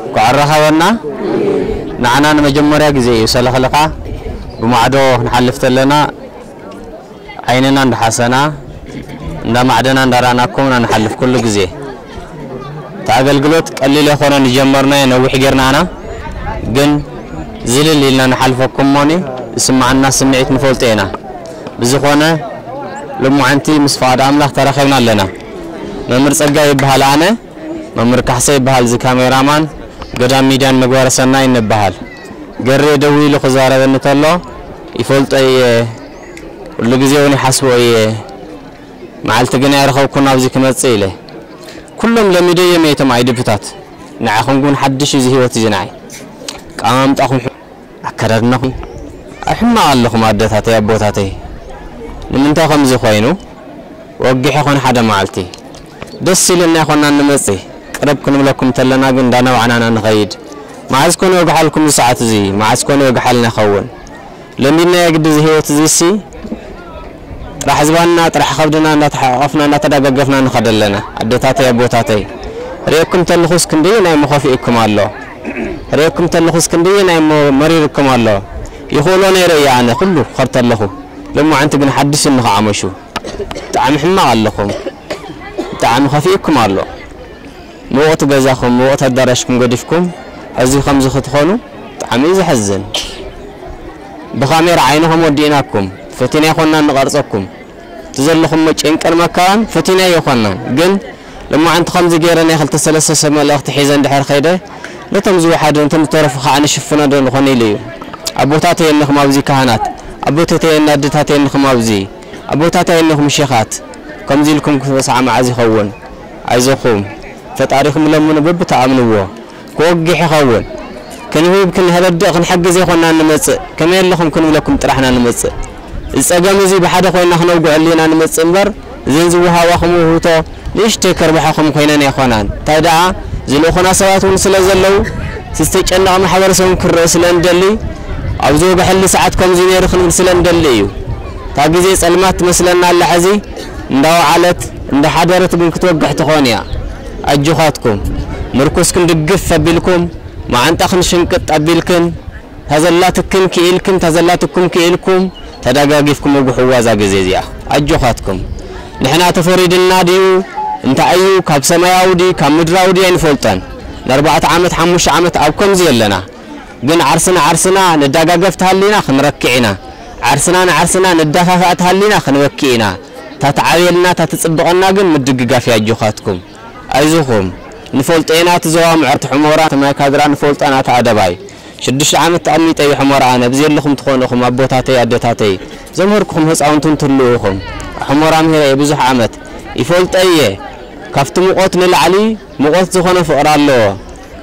እንኳዕ ኣራኸበና። ንዓና ንመጀመርያ ግዜ እዩ ሰለኽለኻ ብማዕዶ ክንሓልፍ ተለና ዓይንና እንዳሓሰና እንዳማዕደና እንዳራእናኩም ኢና ንሓልፍ ኩሉ ግዜ። እቲ ኣገልግሎት ቀሊል ኣይኮነን ዝጀመርናዮ፣ ነዊሕ ጌርና ኢና። ግን ዝልል ኢልና ንሓልፈኩም እሞኒ ዝስምዓና ስምዒት ንፈልጦ ኢና። ብዝኾነ ሎማዓንቲ ምስ ፍቓድ ኣምላኽ ተራኺብና ኣለና። መምህር ጸጋይ ይበሃል ኣነ፣ መምህር ካሕሰ ይበሃል እዚ ካሜራማን፣ ገዳም ሚድያን ምግባረ ሰናይ ንበሃል። ገሬ ደዊሉ ክዛረበኒ ተሎ ይፈልጦ እየ፣ ኩሉ ግዜ እውን ይሓስቦ እየ። መዓልቲ ግን ኣይረኸብኩን ኣብዚ ክመጽእ ኢለ። ኩሎም ለሚደዮም እየ እቶም ኣይድብታት። ንዓኹም ግን ሓድሽ እዩ እዚ ህይወት እዚ ንዓይ። ኣቀማምጣኹም፣ ኣከዳድናኹም ኣብ ሕማቕ ኣለኹም ኣደታተይ ኣቦታተይ። ንምንታይ ከምዚ ኮይኑ? ወጊሕ ይኾን ሓደ መዓልቲ ደስ ኢልና ይኾንና ንመጽእ። ቅርብ ክንብለኩም ተለና ግን እንዳነባዕናና ንኸይድ። መዓዝ ኮን ይወግሓልኩም እዚ ሰዓት እዚ? መዓዝ ኮን ይወግሓልና ይኸውን? ለሚድናዮ ግዲ እዚ ህይወት እዚሲ ጥራሕ ዝባንና ጥራሕ ከብድና እንዳተሓቋቐፍና እንዳተዳጋገፍና ንኸድ ኣለና። ኣደታተይ ኣቦታተይ ርእየኩም ተለኹስ ክንደየናይ እሞ ከፊእኩም ኣሎ። ርእየኩም ተለኹስ ክንደየናይ እሞ መሪርኩም ኣሎ። ይኽእሎ ነይረ እየ ኣነ ኩሉ ክኸድ ተለኹ። ሎማዓንቲ ግን ሓድሽ ንኽዓመሹ ብጣዕሚ ሕማቕ ኣለኹም። ብጣዕሚ ከፊእኩም ኣሎ። ምውቕቲ ገዛኹም፣ ምውቕቲ ኣዳራሽኩም ገዲፍኩም፣ እዚ ከምዚ ክትኾኑ ብጣዕሚ እዩ ዘሕዝን። ብካሜራ ዓይንኹም ወዲእናኩም፣ ፈቲና ኣይኮንናን ንቐርጸኩም። እቲ ዘለኹሞ ጭንቅን መከራን ፈቲና ኣይኮንናን። ግን ሎማዓንቲ ከምዚ ገይረ ናይ ክልተ ሰለስተ ሰብ መልእኽቲ ሒዘ እንድሕር ከይደ፣ ነቶም ዝወሓዱ፣ ነቶም ዝተረፉ ከዓ ንሽፍኖ ዶ ንኾን ኢሉ እዩ። ኣቦታተይ እንኹም ኣብዚ ካህናት፣ ኣቦታተይ ኣደታተይ እንኹም ኣብዚ፣ ኣቦታተይ እንኹም ሸኻት፣ ከምዚ ኢልኩም ክበስዓ መዓዝ ይኸውን? ኣይዞኹም፣ ፈጣሪኹም ለምኑ በብትኣምንዎ። ክወግሕ ይኸውን። ክንህብ፣ ክንረድእ፣ ክንሕግዝ ኣይኮንናን ንመጽእ። ከመይ ኣለኹም ክንብለኩም ጥራሕ ኢና ንመጽእ። እዚ ጸገም እዚ ብሓደ ኮይንና ክነውግዐሉ ኢና ንመጽእ እምበር፣ እዘን ዝወሃባኹም ውህብቶ ንእሽተይ ከርብሓኹም ኮይነን ኣይኮናን። እንታይ ደኣ፣ ዝልእኹና ሰባት እውን ስለ ዘለዉ፣ እቲ ዝተጨነቐ ማሕበረሰብ እውን ክረአ ስለ እንደሊ፣ ኣብ ዝወግሐሉ ሰዓት ከምዚ ነይሩ ክንብል ስለ እንደሊ እዩ። እታ ግዜ ጸልማት ትመስለና ኣላ ሕዚ፣ እንዳወዓለት እንዳሓደረት ግን ክትወግሕ ትኾን እያ። ኣጆኻትኩም፣ ምርኩስክን ድግፍ ኣቢልኩም፣ መዓንጣኽን ሽንቅጥ ኣቢልክን፣ ታዘላትክን ክኢልክን፣ ታዘላትኩም ክኢልኩም፣ ተደጋጊፍኩም ውግሕዋ እዛ ግዜ እዚኣ። ኣጆኻትኩም። ንሕና ተፈሪድና ድዩ? እንታይ እዩ? ካብ ሰማያዊ ድዩ? ካብ ምድራዊ ድዩ? ኣይንፈልጦን። ንኣርባዕተ ዓመት፣ ሓሙሽተ ዓመት ኣብ ከምዚ ኣለና። ግን ዓርስና ዓርስና ንዳጋገፍ ተሃሊና ክንረክዕ ኢና። ዓርስና ንዓርስና ንዳፋፋእ ተሃሊና ክንበኪ ኢና። እታ ትዓብየልና፣ እታ ትጽብቐና ግን ምድግጋፍ እዩ። ኣጆኻትኩም። ኣይዞኹም። ንፈልጦ ኢና እቲ ዞባ ምዕርቲ ሑመራ፣ እቲ ማይ ካድራ ንፈልጦ ኢና፣ እቲ ኣደባይ። ሽዱሽተ ዓመት ተቐሚጠ እዩ ሑመራ ኣነ። ኣብዚ ዘለኹም ትኾኑ ኢኹም ኣቦታተይ፣ ኣደታተይ። ዘምሀርኩኹም ህፃውንቲ እንትህልዉ ኢኹም። ሑመራ ምሂረ እየ ብዙሕ ዓመት። ይፈልጦ እየ። ካብቲ ሙቐት ንላዕሊ ሙቐት ዝኾነ ፍቕሪ ኣለዎ።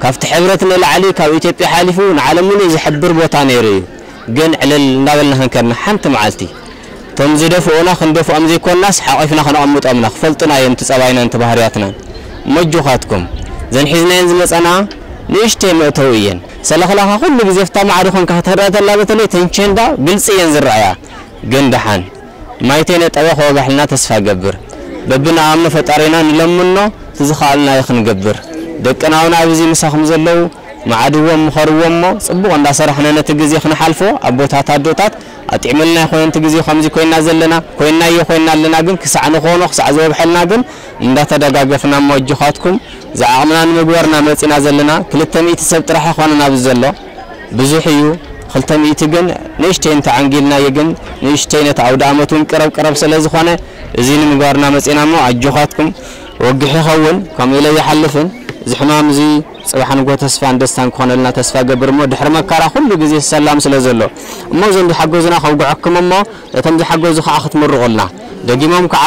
ካብቲ ሕብረት ንላዕሊ ካብ ኢትዮጵያ ሓሊፉ ንዓለም ምሉእ ዝሕብር ቦታ ነይሩ እዩ። ግን ዕልል እንዳበልና ክንከድና ሓንቲ መዓልቲ እቶም ዝደፍኡና ክንደፍኦም ዘይኮንናስ ሓቒፍና ከነቐምጦምና ክፈልጡና እዮም እቲ ጸባይናን እቲ ባህርያትናን። መጆኻትኩም ዘን ሒዝናየን ዝመጸና ንእሽተይ መእተዊ እየን። ሰለኽላኻ ኩሉ ግዜ ፍታ ማዕዶ ኮንካ ክትረአ ተላ በተለይ ተንቸንዳ ግልጺ እየን ዝረኣያ። ግን ደሓን ማይተይ ነጠበ ከወጋሕልና ተስፋ ገብር። በብንኣምኖ ፈጣሪና ንለምኖ ትዝኸኣልናዮ ክንገብር። ደቅና እውን ኣብዚ ምሳኹም ዘለዉ መዓድዎም ምኸርዎም እሞ ጽቡቕ እንዳሰራሕና ነቲ ግዜ ክንሓልፎ ኣቦታት ኣዶታት ኣጥዕመልና ይኾነ ነቲ ግዜ ከምዚ ኮይና ዘለና ኮይናዮ ኮይና ኣለና ግን ክሳዕ ንኾኖ ክሳዕ ዝወግሐልና ግን እንዳተደጋገፍና እሞ ኣጆኻትኩም ዝዓቕምና ንምግባርና መጺና ዘለና ክልተ ሚእቲ ሰብ ጥራሕ ኣይኮነን ኣብዚ ዘሎ ብዙሕ እዩ። ክልተ ሚእቲ ግን ንእሽተይ እንተዓንጊልናዮ ግን ንእሽተይ ነቲ ኣውደ ኣመት እውን ቅረብ ቅረብ ስለ ዝኾነ እዚ ንምግባርና መጺና እሞ ኣጆኻትኩም ወግሕ ይኸውን ከምኡ ኢለ ይሓልፍን እዚ ሕማም እዚ ጽባሕ ንጎ ተስፋን ደስታን ክኾነልና ተስፋ ገብር እሞ ድሕሪ መከራ ኩሉ ግዜ ሰላም ስለ ዘሎ እሞ እዞም ዝሓገዙና ከውግዐኩም እሞ ነቶም ዝሓገዙ ከዓ ክትምርቑልና ደጊሞም ከዓ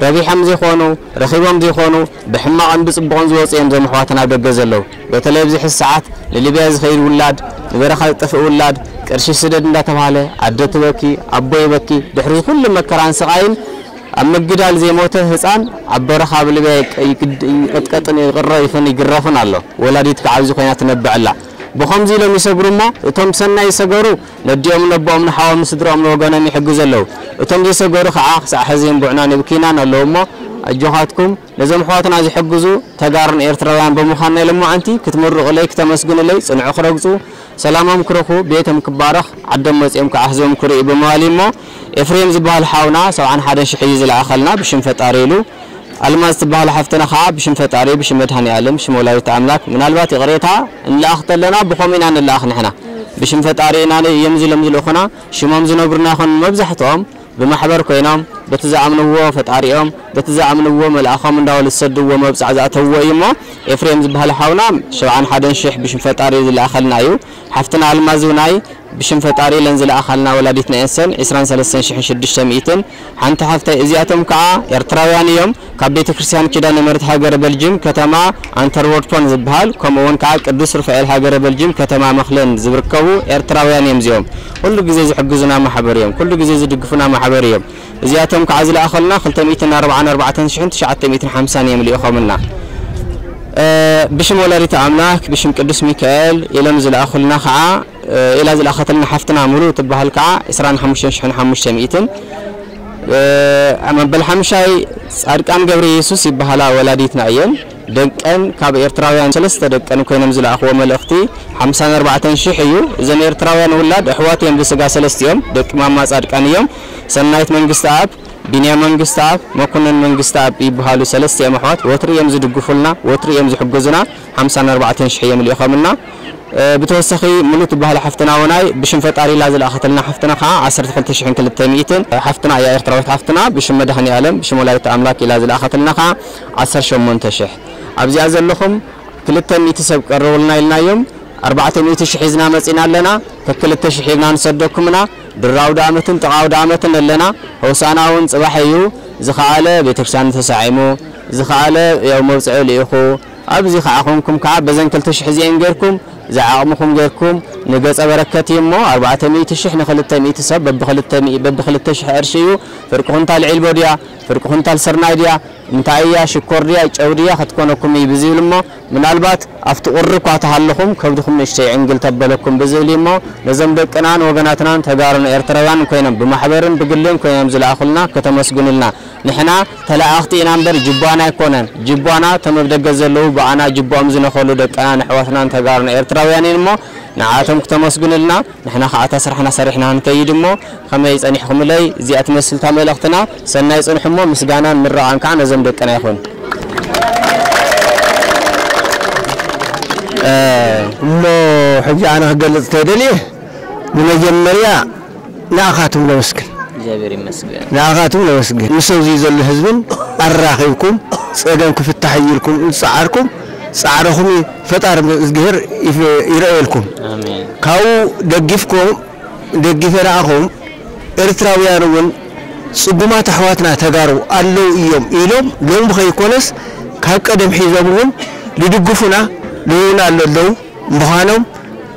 ረቢሖም ዘይኮኑ ረኺቦም ዘይኮኑ ብሕማቕን ብጽቡቕን ዝወጹ እዮም እዞም ኣሕዋትና ኣብ ደገ ዘለዉ። በተለይ ኣብዚ ሕዚ ሰዓት ንሊብያ ዝኸይድ ውላድ፣ ንበረኻ ዝጠፍእ ውላድ፣ ቅርሺ ስደድ እንዳተባህለ ኣደ ትበኪ፣ ኣቦ ይበኪ፣ ድሕሪ እዚ ኩሉ መከራን ስቓይን ኣብ ምግዳል ዘይሞተ ህጻን ኣብ በረኻ ኣብ ልብያ ይቅ- ይቅድ- ይቅጥቀጥን ይቕረፍን ይግረፍን ኣሎ። ወላዲት ከዓ ኣብዚ ኮይና ትነብዕ ኣላ። ብኸምዚ ኢሎም ይሰግሩ እሞ፣ እቶም ሰናይ ዝሰገሩ ነዲኦም ነቦኦም ንሓዎም ንስድራኦም ንወገኖም ይሕግዙ ኣለዉ። እቶም ዘይሰገሩ ከዓ ክሳዕ ሕዚ እምቡዕናን ይብክዩናን ኣለዉ እሞ፣ ኣጆኻትኩም ነዞም ኣሕዋትና ዝሕግዙ ተጋሩን ኤርትራውያን ብምዃንና ኢሎም መዓንቲ ክትምርቑለይ ክተመስግኑለይ ጽንዑ ክረግጹ ሰላሞም ክረኽቡ ቤቶም ክባረኽ ዓዶም መጺኦም ከዓ ህዝቦም ክርእዩ ብምባል እዩ እሞ ኤፍሬም ዝበሃል ሓውና ሰብዓን ሓደን ሽሕ እዩ ዝለኣኸልና ብሽም ፈጣሪ ኢሉ። ኣልማዝ ትበሃል ሓፍትና ከዓ ብሽም ፈጣሪ ብሽም መድሃኒ ኣለም ብሽም ወላዲት ኣምላክ ምናልባት ይቕሬታ ንለኣኽ ተለና ብኸምኡ ኢና ንለኣኽ ንሕና ብሽም ፈጣሪ ኢና እዮም ዝሎም ዝልእኹና ሽሞም ዝነግሩና ይኾኑ መብዛሕትኦም ብማሕበር ኮይኖም በቲ ዝኣምንዎ ፈጣሪኦም በቲ ዝኣምንዎ መልኣኾም እንዳበሉ ዝሰድዎ መብጻዕ ዝኣተውዎ እዩ እሞ ኤፍሬም ዝበሃል ሓውና ሸብዓን ሓደን ሽሕ ብሽም ፈጣሪ ዝለኣኸልና እዩ። ሓፍትና ኣልማዝ እውናይ ብሽም ፈጣሪ ኢለን ዝለኣኻልና ወላዲትና እየን ሰን ዕስራን ሰለስተን ሽሕን ሽዱሽተ ሚእትን ሓንቲ ሓፍተይ እዚኣቶም ከዓ ኤርትራውያን እዮም ካብ ቤተ ክርስቲያን ኪዳነ ምሕረት ሃገረ በልጅም ከተማ ኣንተርወርፖን ዝበሃል ከምኡ እውን ከዓ ቅዱስ ሩፋኤል ሃገረ በልጅም ከተማ መኽለን ዝርከቡ ኤርትራውያን እዮም እዚኦም ኩሉ ግዜ ዝሕግዙና ማሕበር እዮም ኩሉ ግዜ ዝድግፉና ማሕበር እዮም እዚኣቶም ከዓ ዝለኣኸልና ክልተ ሚእትን ኣርባዓን ኣርባዕተን ሽሕን ትሽዓተ ሚእትን ሓምሳን እዮም ልኢኾምልና ብሽም ወላዲተ ኣምላክ ብሽም ቅዱስ ሚካኤል ኢሎም ዝለኣኹልና ከዓ ኢላ ዝለኣኸትልና ሓፍትና ሙሉ ትበሃል ከዓ ዕስራን ሓሙሽተን ሽሕን ሓሙሽተ ሚእትን መበል ሓምሻይ ጻድቃን ገብረ ኢየሱስ ይበሃላ ወላዲትና እየን ደቀን ካብ ኤርትራውያን ሰለስተ ደቀን ኮይኖም ዝለኣኽዎ መልእኽቲ ሓምሳን ኣርባዕተን ሽሕ እዩ እዘን ኤርትራውያን ውላድ ኣሕዋት እዮም ብስጋ ሰለስቲኦም ደቂ ማማ ጻድቃን እዮም ሰናይት መንግስቲ ኣብ ቢንያም መንግስተኣብ፣ መኮነን መንግስተኣብ ይበሃሉ ሰለስቲኦም ኣሕዋት ወትሩ እዮም ዝድግፉልና፣ ወትሩ እዮም ዝሕግዙና፣ ሓምሳን ኣርባዕተን ሽሕ እዮም ልኢኾምልና። ብተወሳኺ ሙሉ ትበሃል ሓፍትና ወናይ ብሽም ፈጣሪ ኢላ ዝለኣኸትልና ሓፍትና ከዓ ዓሰርተ ክልተ ሽሕን ክልተ ሚእትን ሓፍትና እያ ኤርትራዊት ሓፍትና ብሽም መድሃኒኣለም ብሽም ወላዲተ ኣምላክ ኢላ ዝለኣኸትልና ከዓ ዓሰርተ ሸሞንተ ሽሕ ኣብዚኣ ዘለኹም ክልተ ሚእቲ ሰብ ቀርቡልና ኢልናዮም ኣርባዕተ ሚእቲ ሽሕ ሒዝና መጺና ኣለና ከክልተ ሽሕ ሒዝና ንሰደኩም ኢና ድራው ዳመትን ጥቓው ዳመትን ኣለና ሆሳና እውን ጽባሕ እዩ ዝኸኣለ ቤተክርስትያን ተሳዒሙ ዝኸኣለ ያው መብጽዑ ልኢኹ ኣብዚ ከዓ ኾንኩም ከዓ በዘን ክልተ ሽሕ እዚአን ጌርኩም ዝዓቕምኹም ጌርኩም ንገጸ በረከት እዩ እሞ ኣርባዕተ ሚእቲ ሽሕ ንኽልተ ሚእቲ ሰብ በብኽልተ ሚእ- በብኽልተ ሽሕ ቅርሺ እዩ ፍርቂ ኩንታል ዒልቦ ድያ ፍርቂ ኩንታል ስርናይ ድያ እንታይ እያ ሽኮር ድያ ጨው ድያ ክትኮነኩም እዩ ብዝብል እሞ ምናልባት ኣብቲ ቁሪ እኳ ተሃለኹም ከብድኹም ንእሽተይ ዕንግል ተበለኩም ብዝብል እዩ እሞ ነዞም ደቅናን ወገናትናን ተጋሩን ኤርትራውያን ኮይኖም ብማሕበርን ብግልን ኮይኖም ዝለኣኹልና ከተመስግኑልና ንሕና ተለኣኽቲ ኢና እምበር ጅቧና ኣይኮነን ጅቧና እቶም ኣብ ደገ ዘለዉ ብኣና ጅቦኦም ዝነኸሉ ደቅናን ኣሕዋትናን ተጋሩን ኤርትራውያን እየን እሞ ንዓቶም ክተመስግኑልና ንሕና ከዓ እታ ስራሕና ሰሪሕና ንከይድ እሞ ከመይ ጸኒሕኹምለይ እዚኣ ትመስል እታ መልእኽትና ሰናይ ጽንሑ እሞ ምስጋናን ምርቓን ከዓ ነዞም ደቅና ይኹን። እሞ ሕጂ ኣነ ክገልጽ ተደልየ ብመጀመርያ ንኣኻትም ነመስግን እግዚኣብሔር ይመስገን ንኣኻትም ነመስግን ምስ ኣብዚ ዘሎ ህዝብን ኣራኺብኩም ጸገም ክፍታሕ እዩ ኢልኩም ዝጸዓርኩም ጻዕርኹም ፈጣሪ እግዚኣብሔር ይፍ- ይርኣየልኩም ኣሜን ካብኡ ደጊፍኩም ደጊፈ ንኣኹም ኤርትራውያን እውን ጽጉማት ኣሕዋትና ተጋሩ ኣለዉ እዮም ኢሎም ሎሚ ከይኮነስ ካብ ቀደም ሒዞም እውን ልድግፉና ልህቡና ኣለዉ ምዃኖም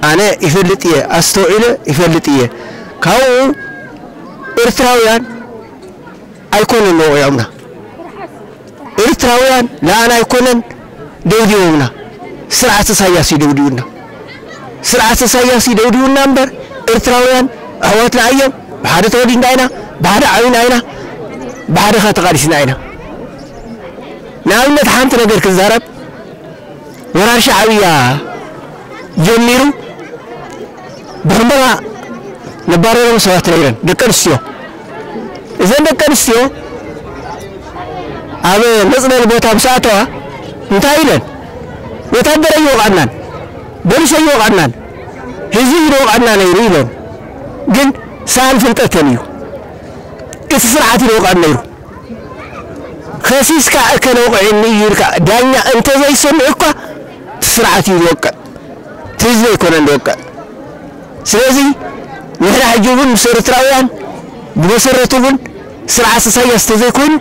ኣነ ይፈልጥ እየ ኣስተውዒለ ይፈልጥ እየ ካብኡ ኤርትራውያን ኣይኮነን ወቒዖምና ኤርትራውያን ንኣና ኣይኮነን ደብዲቦምና ስርዓት ኢሳያስ እዩ ደብዲቡና ስርዓት ኢሳያስ እዩ ደብዲቡና እምበር ኤርትራውያን ኣሕዋትና እዮም ብሓደ ተወሊድና ኢና ብሓደ ዓብና ኢና ብሓደ ኸ ተቓሊስና ኢና ንኣብነት ሓንቲ ነገር ክዛረብ ወራር ሻዕብያ ጀሚሩ ብሕንበባ ነባረሮም ሰባት ነይረን ደቂ ኣንስትዮ እዘን ደቂ ኣንስትዮ ኣብ መፅለሊ ቦታ ምስ ኣተዋ እንታይ ኢለን ወታደር ኣይወቕዐናን ፖሊስ ኣይወቕዐናን ህዝቢ እዩ ዝወቕዐና ነይሩ ኢለን ግን ሰኣን ፍልጠተን እዩ እቲ ስርዓት እዩ ዝወቕዐን ነይሩ ከሲስካ እከለ ወቒዑኒ እዩ ኢልካ ዳኛ እንተዘይሰምዕ እኳ እቲ ስርዓት እዩ ዝወቅዕ እቲ ህዝቢ ኣይኮነን ዝወቅዕ ስለዚ ንሕና ሕጂ እውን ምስ ኤርትራውያን ብመሰረቱ እውን ስርዓት ኢሳያስ ተዘይኮይኑ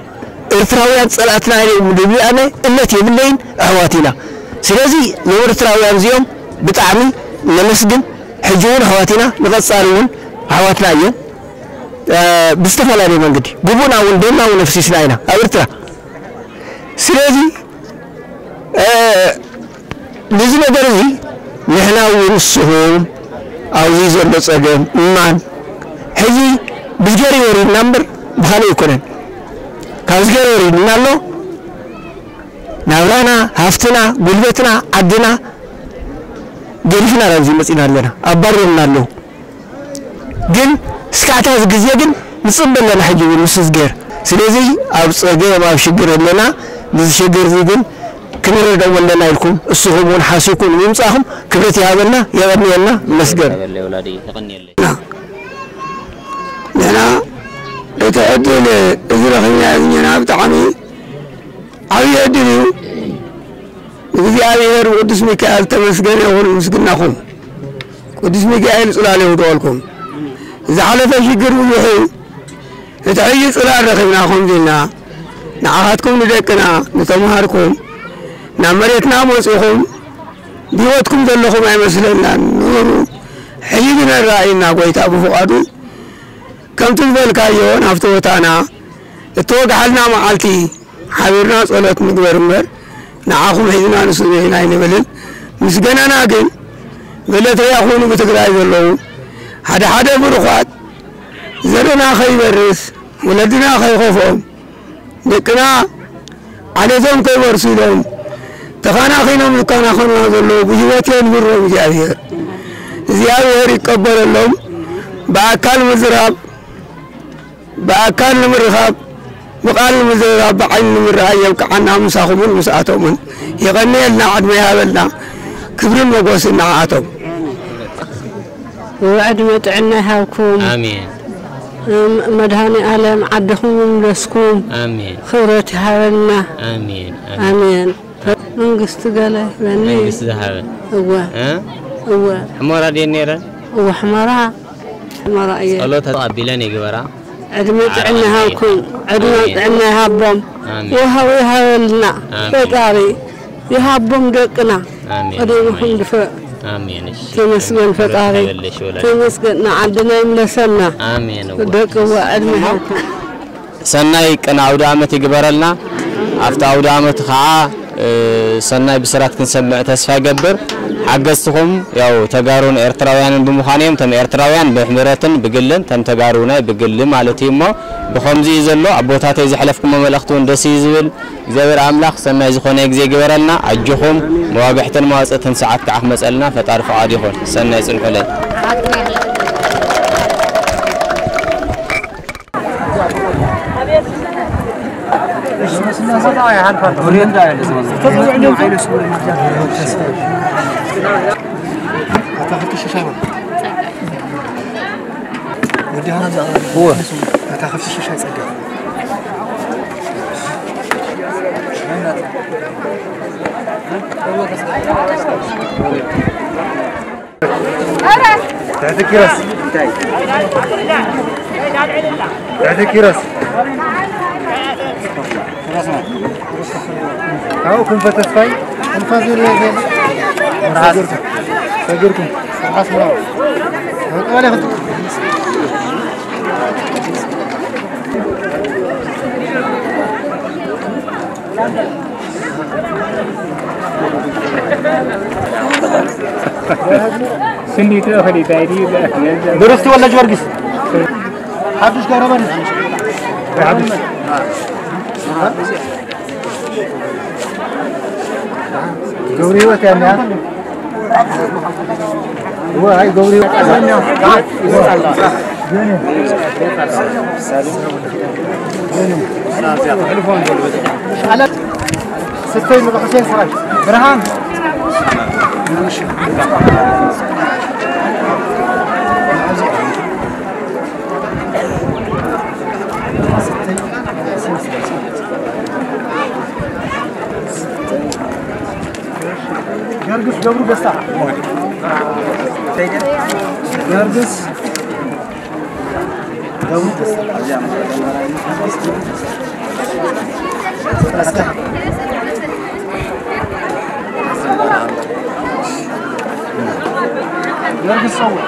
ኤርትራውያን ፀላእትና እዮም ዝብል ኣነ እምነት የብለይን ኣሕዋት ኢና ስለዚ ንኤርትራውያን እዚኦም ብጣዕሚ ነመስግን ሕጂ እውን ኣሕዋት ኢና ንቐፃሊ እውን ኣሕዋትና እዮም ብዝተፈላለየ መንገዲ ግቡእና እውን ደምና እውን ኣፍሲስና ኢና ኣብ ኤርትራ። ስለዚ ነዚ ነገር እዚ ንሕና እውን ንስኹም ኣብዚ ዘሎ ጸገም እማን ሕዚ ብዝገር ወሪድና እምበር ብኻልእ ኣይኮነን። ካብ ዝገር ወሪድና ኣሎ። ናብራና፣ ሃፍትና፣ ጉልበትና፣ ዓድና ገዲፍና ናብዚ መጺና ኣለና። ኣባሪሮምና ኣለዉ። ግን እስካዕ እታ ግዜ ግን ንጽበ ኣለና ሕጂ እውን ምስ ዝገር። ስለዚ ኣብ ጸገም ኣብ ሽግር ኣለና። ንዚ ሽግር እዚ ግን ክንረድኦም ኣለና ኢልኩም እስኹም እውን ሓሲብኩም ንምምጻእኩም ክብረት ይሃበልና። የቐንየልና። መስገን። ንሕና እቲ ዕድል እዚ ረኺብና ዝኛና ብጣዕሚ ዓብዪ ዕድል እዩ። እግዚኣብሔር ብቅዱስ ሚካኤል ተመስገን ይኹን ምስግናኹም። ቅዱስ ሚካኤል ጽላል የውድቐልኩም። ዝሓለፈ ሽግር ብዙሕ እዩ። እቲ ሕጂ ጽላል ረኺብና ከምዚ ኢልና ንዓኻትኩም ንደቅና ንተምሃርኩም ናብ መሬትና መጺኹም ብህይወትኩም ዘለኹም ኣይመስለናን ነበሩ። ሕጂ ግን ኣረኣዩና ጎይታ ብፍቓዱ ከምቲ ዝበልካዮ ናብቲ ቦታና እተወግሓልና መዓልቲ ሓቢርና ጸሎት ንግበር እምበር ንዓኹም ሒዝና ንስእኑ ኢና ኣይንብልን። ምስገናና ግን ገለ ተያኹኑ ብትግራይ ዘለዉ ሓደ ሓደ ብሩኻት ዘርና ከይበርስ ወለድና ከይኸፍኦም ደቅና ዓሌቶም ከይወርሱ ኢሎም ተኻናኺኖም ዝከናኸኑና ዘለዉ ብህይወት የንብሮም እግዚኣብሔር። እግዚኣብሔር ይቀበለሎም። ብኣካል ምዝራብ ብኣካል ንምርኻብ ብቓል ንምዝርራብ ብዓይኒ ንምርኣይ የብቅዓና ምሳኹምን ምስኣቶምን የቐንየልና ዕድመ ይሃበልና ክብርን መጎስን ንዓኣቶም። ዕድመ ጥዕና ይሃብኩም። ኣሜን። መድሃኒ ኣለም ዓድኹም ይምለስኩም። ኣሜን። ክብረት ይሃበልና። ኣሜን። ኣሜን። መንግስቲ ገለ ይበኒ። መንግስቲ ዝሃበ። እወ። እ? እወ። ሕሞራ ድየ ነይረ? እወ ሕሞራ። ሕሞራ እየ። ጸሎት ተቐቢለን ይግበራ። ዕድመ ጥዕና ይሃብኩም። ዕድመ ጥዕና ይሃቦም። ኣሜን። ወሃቡ ይሃበልና። ኣሜን። ፈጣሪ ይሃቦም ደቅና። ኣሜን። ቀደምኹም ድፈእ። ኣሜን። እሺ። ተመስገን ፈጣሪ። ተመስገን ንዓድና ይምለሰና። ኣሜን። ደቅዋ ዕድመ ይሃብኩም። ሰናይ ቅነ ኣውደ ኣመት ይግበረልና። ኣብቲ ኣውደ ኣመት ኸዓ ሰናይ ብስራት ክንሰምዕ ተስፋ ይገብር። ሓገዝትኹም ያው ተጋሩን ኤርትራውያንን ብምዃን እዮም። ተም ኤርትራውያን ብሕብረትን ብግልን ተም ተጋሩ ናይ ብግሊ ማለት እዩ። እሞ ብኸምዚ እዩ ዘሎ። ኣቦታተይ ዘሕለፍኩሞ መልእኽቲ እውን ደስ እዩ ዝብል። እግዚኣብሔር ኣምላኽ ሰናይ ዝኾነ ግዜ ይግበረልና። ኣጆኹም መዋግዕትን መዋፅእትን ሰዓት ከዓ ክመፀልና ፈጣሪ ፍቓድ ይኹን። ሰናይ ፅንሑለይ። ትሕቲ ኪሮስ። ትሕቲ ኪሮስ። ካብኡ ክንፈ ተስፋይ። ሰጊርኩም። ስንዲቱ እኽሊ ታይ ድዩ? ብርስቲ ወልደ ጊዮርጊስ ሓዱሽ ገብረ መድህን ሓዱሽ ገብረ ህይወት ያለ ስተይ ንብሕሴን ስራይ ብርሃን ገርግስ ገብሩ ደስታ ገርግስ ገብሩ ደስታ ገርግስ ጸውዕ